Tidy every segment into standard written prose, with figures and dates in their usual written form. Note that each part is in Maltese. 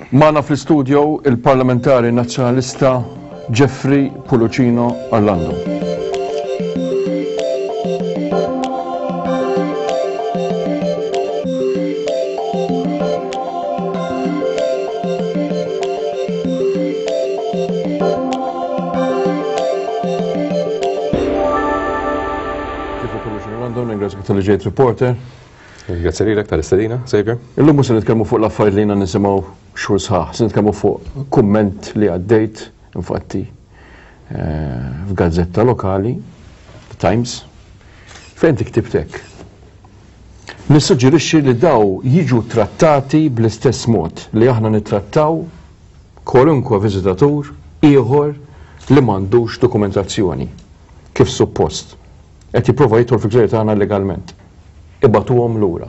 Magħna fl-istudio il-Parlamentari Nazzjonalista Jeffrey Pullicino Orlando. Jeffrey Pullicino Orlando, ningrazzjak tal-li ġejt reporter. Grazzi lilek tal-istedina, Xavier. Illum mhux se nitkellmu fuq l-affarijiet li jiena nisimgħu xhur sħaħ, se nitkellmu fuq kumment li għaddejt, infatti, eh, f'gazzetta lokali, The Times, fejn inti ktibt hekk. Nissuġġerixxi li daw jiġu trattati bl-istess mod li aħna nittrattaw kwalunkwe viżitatur ieħor li m'għandux dokumentazzjoni kif suppost. Qed jipprova jidħol fil-gżejjer tagħna illegalment. Ibagħtuhom lura.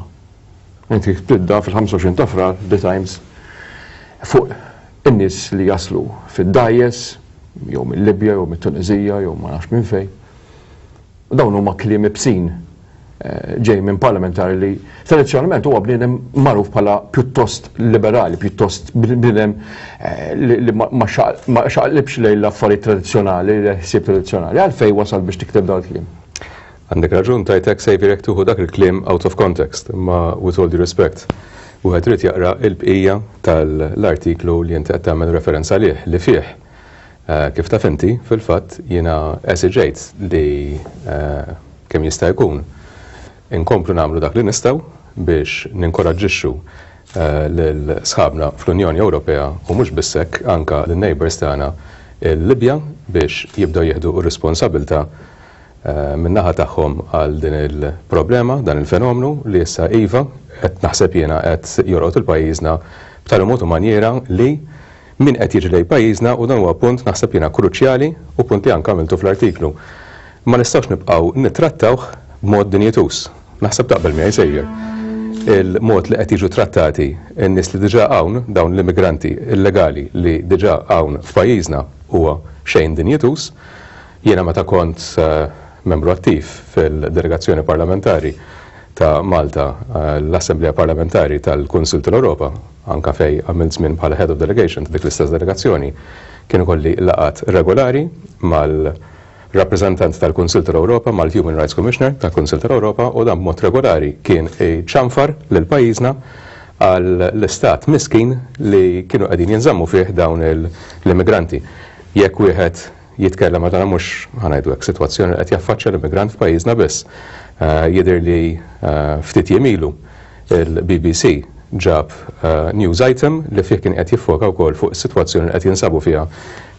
Inti tibda fil-25 ta' Frar, The Times, fuq in-nies li jaslu fid-dgħajjes, jew mil-Libja, jew mit-Tuneżija, jew ma nafx minn fejn. U dawn huma kliem ibsin ġej minn parlamentari li tradizzjonalment huwa bniedem magħruf bħala pjuttost liberali, pjuttost bniedem eh, li ma xaqlibx lejn l-affarijiet tradizzjonali, l-ħsieb tradizzjonali. Għalfejn wasal biex tikteb dawn il-kliem? Għandek raġun tajtek Xavier jekk tuħu dak il-kliem out of context, imma with all due respect, wieħed irid jaqra l-bqija tal-artiklu li inti qed tagħmel referenza għalih li fih eh, kif taf inti, fil-fatt jiena esiġejt li eh, kemm jista' jkun inkomplu nagħmlu dak li nistgħu biex ninkoraġġixxu eh, lil sħabna fl-Unjoni Ewropea u mhux biss hekk anka lin-neighbours tagħna il-Libja biex jibdew jieħdu r-responsabilità min-naħa tagħhom għal din il-problema, dan il-fenomenu li issa iva qed naħseb jiena qed jorqod il-pajjiżna b'tali mod u manjiera li min qed jiġi lejn pajjiżna u dan huwa punt naħseb jiena kruċjali u punt li anke għamiltu fl-artiklu. Ma nistgħux nibqgħu nittrattawh b'mod dinjituż. Naħseb taqbel miegħi Xavier. Il-mod li qed jiġu trattati n-nies li diġà hawn, dawn l-immigranti illegali li diġà hawn f'pajjiżna huwa xejn dinjituż. Jiena meta kont membru attiv fil-delegazzjoni parlamentari ta' Malta l-Assemblea Parlamentari tal-Kunsill tal-Ewropa, anke fejn għamilt żmien bħala Head of Delegation ta' dik l-istess delegazzjoni, kien ikolli laqgħat regolari mal-rappreżentant tal-Kunsill tal-Ewropa, mal-Human Rights Commissioner tal-Kunsill tal-Ewropa u dan b'mod regolari kien iċanfar lil pajjiżna għall-istat miskin li kienu qegħdin jinżammu fih dawn l-immigranti. Jekk wieħed jitkellem għal mhux ħa ngħidu hekk sitwazzjoni li qed jaffaċċja l-immigrant f'pajjiżna biss. Jidher li ftit jiem ilu il-BBC ġab news item li fih kien qed jiffoka wkoll fuq is-sitwazzjoni li qed jinsabu fiha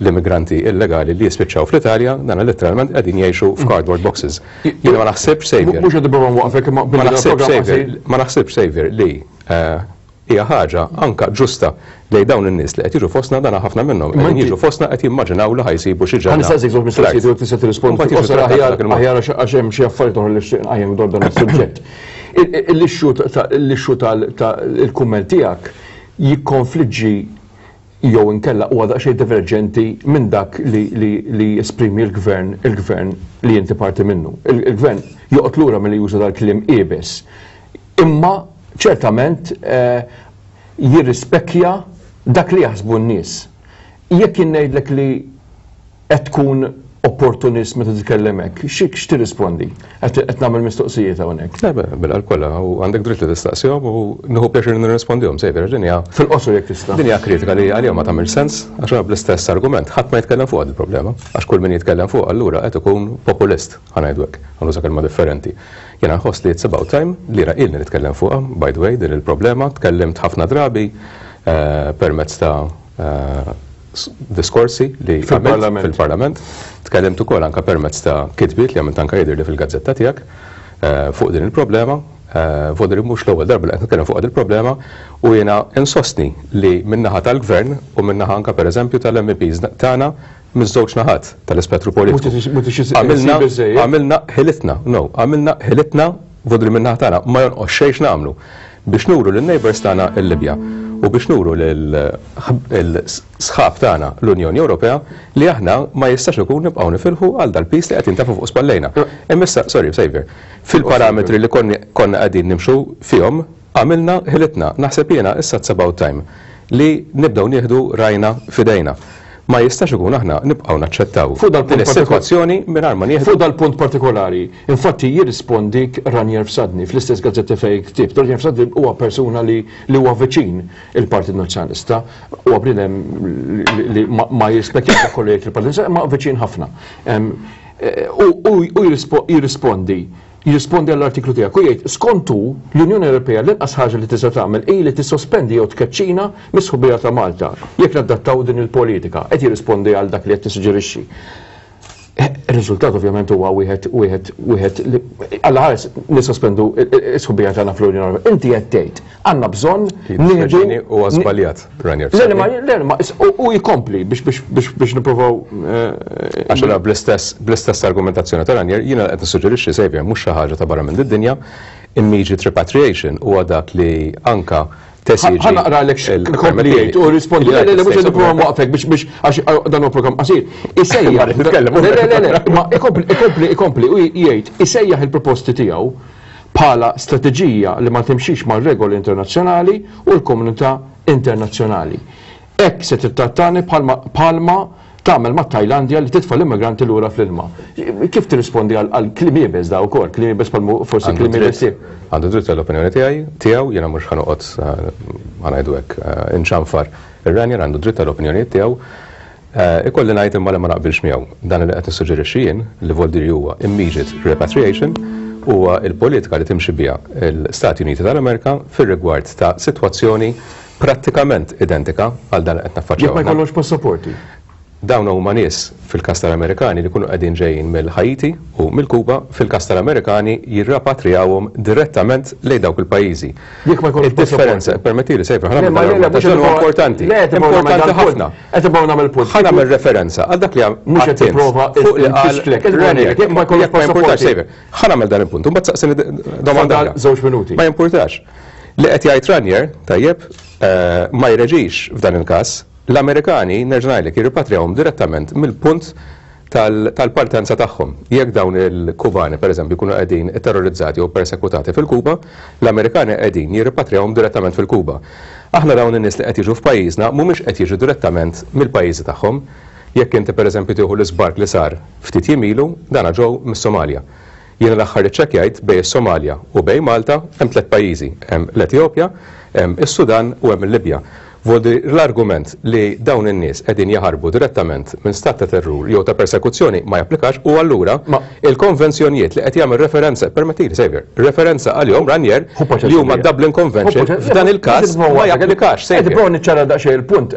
l-immigranti illegali li jispiċċaw fl-Italja, dan letteralment qegħdin jgħixu f'cardboard boxes. Jiena ma naħsibx Xavier. Mhux qed nipprova nwaqfek imma ma naħsibx Xavier, ma naħsibx Xavier li hija ħaġa anka ġusta lejn dawn in-nies li qed jiġu fostna dan ħafna minnhom qegħdin jiġu fostna qed jimmaġinaw li ħa jsibu xi ġenna. Ħa nistaqsik żewġ mistoqsijiet u tista' tirrispondi fil-qosor aħjar aħjar għax hemm xi affarijiet oħra li nixtieq nqajjem dwar dan is-suġġett. L-issue tal-kumment tiegħek jikkonfliġġi jew inkella huwa daqsxejn diverġenti minn dak li jesprimi l-gvern il-gvern li inti parti minnu. Il-gvern joqgħod lura milli juża dal-kliem iebes. Imma ċertament eh, jirrispekkja dak li jaħsbu n-nies. Jekk jien ngħidlek li qed tkun opportunist meta titkellem hekk, x'tirrispondi? Qed nagħmel mistoqsijiet hawnhekk. Le, bil-qalb kollha, u għandek dritt li tistaqsihom u nieħu pjaċir nirrispondihom, sejfer, din hija. Fil-qosor jekk tista'. Din hija kritika li għalihom ma tagħmilx sens, għax bl-istess argument ħadd ma jitkellem fuq il-problema, għax kull min jitkellem fuq allura qed ikun populist, ħa ngħidu hekk, ħa nuża kelma differenti. Jiena nħoss li it's about time li jiena ilni nitkellem fuqha, by the way, din il-problema, tkellimt ħafna drabi eh, permezz ta' eh, diskorsi li fil-Parlament. Fil-Parlament. Tkellimt ukoll anka permezz ta' kitbiet li għamilt anka jidher li fil-gazzetta tiegħek eh, fuq din il-problema. Eh, Vodri mhux l-ewwel darba li qed nitkellem fuq din il-problema u jiena insostni li min-naħa tal-Gvern u min-naħa anka pereżempju tal-MEPs tagħna miż-żewġ naħat tal-ispettru politiku. Għamilna ħilitna, no, għamilna ħilitna vodri min-naħa tagħna ma jonqos xejn nagħmlu biex nuru lin-neighbours tagħna l-Libja u biex nuru lil-sħab tagħna l-Unjoni Ewropea li aħna ma jistax ikun nibqgħu nifilħu għal dal-piż li qed jintafa' fuq spallejna. Imma issa, sorry, Xavier, fil-parametri li konna qegħdin nimxu fihom għamilna ħilitna. Naħseb jiena issa it's about time. li nibdew nieħdu rajna f'idejna. Ma jistax ikun aħna nibqgħu naċċettaw Fuq dal-punt din is-sitwazzjoni mingħajr ma nieħdu Fuq dal-punt partikolari, infatti jirrispondik Ranier Fsadni fl-istess gazzetta fejn ktibt. Ranier Fsadni huwa persuna li li huwa viċin il-Partit Nazzjonalista, huwa bniedem li ma jirrispekkjax dak kollu jgħid il-Partit Nazzjonalista, imma viċin ħafna. U jirrispondi jirrispondi għall-artiklu tiegħek u jgħid skont hu l-Unjoni Ewropea l-inqas ħaġa li tista' tagħmel hi li tissospendi jew tkeċċina mis-sħubija ta' Malta jekk nadattaw din il-politika. Qed jirrispondi għal dak li qed tissuġġerixxi. Ir-riżultat ovvjament huwa wieħed wieħed wieħed li Alla ħares nissospendu s-sħubija tagħna fl-Unjoni Ewropea. Inti qed tgħid għandna bżonn nieħdu Huwa żbaljat, Ranier. Le, le, le, ma u jkompli biex biex biex biex nippruvaw. Għax allura bl-istess bl-istess argumentazzjoni ta' Ranier jiena qed nissuġġerixxi Xavier mhux xi ħaġa ta' barra minn did-dinja, immediate repatriation huwa dak li anka tesiġi. Ħa naqralek x'kompli jgħid u rispondi. Le, le, le, mhux qed nipprova nwaqfek biex biex għax dan huwa programm qasir. Isejjaħ. Le, le, le, le, ma ikompli ikompli ikompli u jgħid isejjaħ il-proposti tiegħu bħala strateġija li ma timxix mar-regoli internazzjonali u l-komunità internazzjonali. Hekk se tittrattani bħalma bħalma tagħmel mat-Tajlandja li titfa' l-immigranti lura fl-ilma. Kif tirrispondi għal kliem iebes da wkoll, kliem iebes bħal forsi kliem iebes tiegħek? Għandu dritt għall-opinjoni tiegħi, tiegħu, jiena mhux ħa noqgħod ħa ngħidu hekk inċanfar ir-Ranier għandu dritt għall-opinjonijiet tiegħu. Ikolli ngħid imma li ma naqbilx miegħu. Dan li qed nissuġġerixxi jien, li Voldiri huwa immediate repatriation, huwa l-politika li timxi biha l-Stati Uniti tal-Amerika fir-rigward ta' sitwazzjoni prattikament identika għal dan li qed naffaċċjaw. Jekk ma jkollhomx passaporti. Dawn huma nies, fil-każ tal-Amerikani, li jkunu qegħdin ġejjin mill-Ħaiti u mill-Kuba, fil-każ tal-Amerikani jirrapatriawhom direttament lejn dawk il-pajjiżi. Jekk ma jkollhomx passaporti. Id-differenza, permettili Sejfer, ħa nagħmel dan l-argument għax dan huwa importanti. Importanti ħafna. Qed nipprova nagħmel punt. Ħa nagħmel referenza għal dak li Mhux qed tipprova fuq li qal Jekk ma jkollhomx passaporti. Sejfer, ħa nagħmel dan il-punt, u mbagħad saqsini domanda. Fadal żewġ minuti. Ma jimpurtax. Li qed jgħid Ranier, tajjeb, ma jreġix f'dan il-każ. L-Amerikani, nerġa' ngħidlek, jirripatrijawhom direttament mill-punt tal-partenza tagħhom. Jekk dawn il-Kubani, pereżempju, jkunu qegħdin itterrorizzati jew persekutati fil-Kuba, l-Amerikani qegħdin jirripatrijawhom direttament fil-Kuba. Aħna dawn in-nies li qed jiġu f'pajjiżna mhumiex qed jiġu direttament mill-pajjiżi tagħhom. Jekk inti pereżempju tieħu l-iżbark li sar ftit jiem ilu, dana ġew mis-Somalja. Jiena l-aħħar iċċekkjajt bejn is-Somalja u bejn Malta hemm tlett pajjiżi, hemm l-Etjopja, hemm is-Sudan u hemm il-Libja. Vuol dire l-argument li dawn in-nies qegħdin jaħarbu direttament minn stat ta' terrur jew ta' persekuzzjoni ma japplikax u allura il-konvenzjonijiet li qed jagħmel referenza, permettili Saviour, referenza għalihom Ranier li huma d-Dublin Convention f'dan il-każ ma japplikax Qed Saviour. nipprova niċċara daqsxejn il-punt.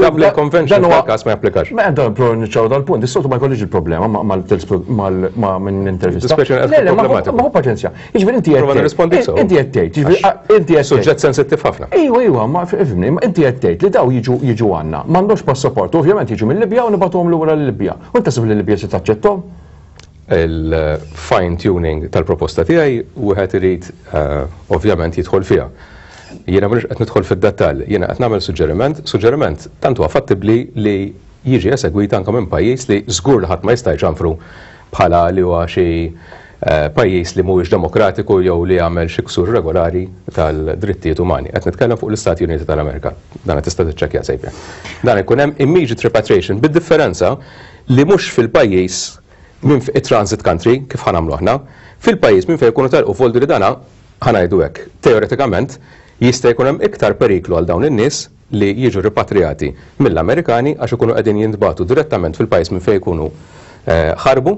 Dublin Convention f'dan il-każ ma japplikax. Ma qed nipprova niċċara dal-punt, is-soltu ma jkollix il-problema ma' min intervista. Dispeċi Le, le, ma hu paċenzja. Jiġifieri inti qed nirrispondi sew. Inti qed tgħid, jiġifieri inti qed Suġġett sensittiv ħafna. Ejwa, ejwa, ma fimni, inti qed tgħid li daw jiġu jiġu għandna, m'għandhomx passaport, ovvjament jiġu mill-Libja u nibgħatuhom lura l-Libja. U inti taħseb li l-Libja se taċċetthom? Il-fine tuning tal-proposta tiegħi wieħed irid eh, ovvjament jidħol fiha. Jiena mhux qed nidħol fid-dettall, jiena qed nagħmel suġġeriment, suġġeriment tant huwa fattibbli li jiġi esegwit anke minn pajjiż li żgur li ħadd ma jista' jċanfru bħala li huwa xi eh, pajjiż li mhuwiex demokratiku jew li jagħmel xi ksur regolari tal-drittijiet umani. Qed nitkellem fuq l-Istati Uniti tal-Amerika. Dan qed tista' tiċċekkja sejbja. Dan ikun hemm immediate repatriation bid-differenza li mhux fil-pajjiż minn it-transit country kif ħa nagħmlu aħna, fil-pajjiż minn fejn ikunu telqu foldi li dana ħa ngħidu hekk, teoretikament jista' jkun hemm iktar periklu għal dawn in-nies li jiġu ripatrijati mill-Amerikani għax ikunu qegħdin jintbagħtu direttament fil-pajjiż minn fejn ikunu ħarbu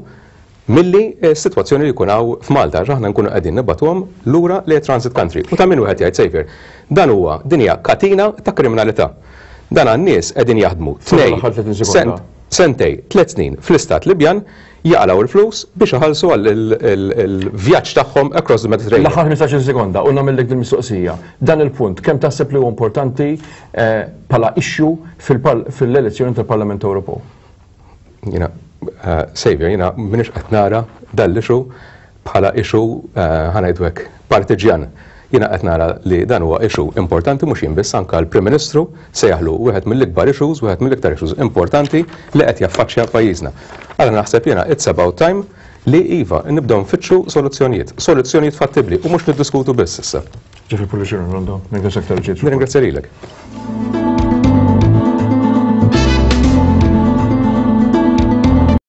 milli s-sitwazzjoni li jkun hawn f'Malta għax aħna nkunu qegħdin nibagħtuhom lura lejn transit country. U ta' min wieħed jgħid Saviour, dan huwa din hija katina ta' kriminalità. Dan għan-nies qegħdin jaħdmu tnejn sentej, tlett snin fl-istat Libjan jaqalgħu l-flus biex iħallsu għal il-vjaġġ tagħhom across the Mediterranean. L-aħħar 15-il sekonda u nagħmillek din mistoqsija. Dan il-punt kemm taħseb li huwa importanti eh, bħala issue fil-elezzjoni tal-Parlament Ewropew? Jiena, eh, Saviour, jiena m'iniex qed nara dan l-issue bħala issue eh, ħa ngħidu hekk partiġjan. Jiena qed nara li dan huwa issue importanti mhux jien biss anke l-Prim Ministru sejjaħlu wieħed mill-ikbar issues, wieħed mill-iktar issues importanti li qed jaffaċċja pajjiżna. Allura naħseb jiena it's about time li iva nibdew nfittxu soluzzjonijiet, soluzzjonijiet fattibbli u mhux niddiskutu biss issa. Jeffrey Pullicino, London, nirringrazzjak tal-ġiet. Nirringrazzja lilek.